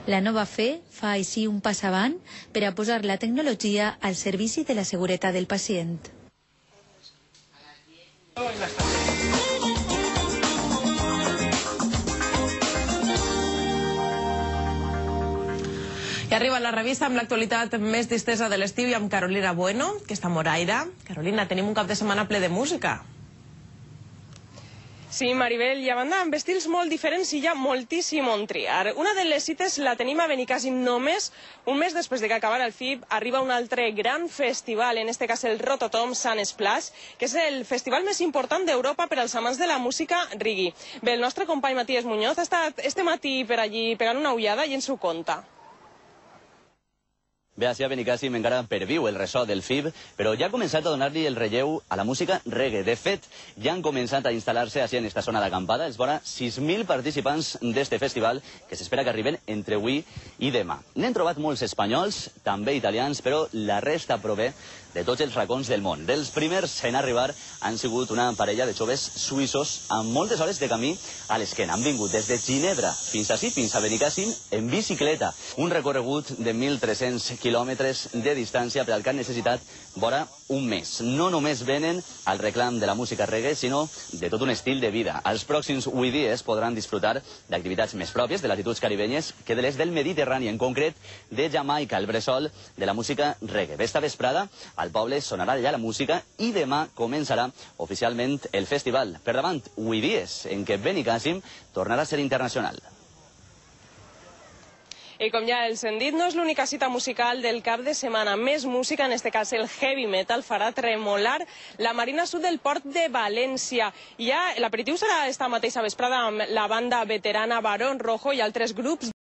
La nova FE fa així un pas avant per a posar la tecnologia al servici de la seguretat del pacient. I arriba la revista amb l'actualitat més distesa de l'estiu i amb Carolina Bueno, que està a Moraira. Carolina, tenim un cap de setmana ple de música. Sí, Maribel, i a banda amb estils molt diferents i hi ha moltíssim on triar. Una de les cites la tenim a Benicàssim només un mes després de que acabara el FIB. Arriba un altre gran festival, en este cas el Rototom Sun Splash, que és el festival més important d'Europa per als amants de la música reggae. Bé, el nostre company Matías Muñoz ha estat este matí per allí pegant una ullada i ens ho conta. Bé, així a Benicàssim encara perviu el ressò del FIB, però ja ha començat a donar-li el relleu a la música reggae. De fet, ja han començat a instal·lar-se així en esta zona d'acampada els vora 6.000 participants d'este festival, que s'espera que arriben entre avui i demà. N'hem trobat molts espanyols, també italians, però la resta prové de tots els racons del món. Dels primers en arribar han sigut una parella de joves suïssos amb moltes hores de camí a l'esquena. Han vingut des de Ginebra fins ací, fins a Benicàssim, en bicicleta. Un recorregut de 1.300 quilòmetres de distància per al que han necessitat vora un mes. No només venen al reclam de la música reggae, sinó de tot un estil de vida. Els pròxims 8 dies podran disfrutar d'activitats més pròpies de latituds caribenyes que de les del Mediterrani, en concret de Jamaica, el bressol de la música reggae. Esta vesprada al poble sonarà allà la música i demà començarà oficialment el festival. Per davant, 8 dies en què Benicàssim tornarà a ser internacional. I com ja els hem dit, no és l'única cita musical del cap de setmana. Més música, en este cas el heavy metal, farà tremolar la Marina Sud del Port de València. I ja l'aperitiu serà esta mateixa vesprada amb la banda veterana Barón Rojo i altres grups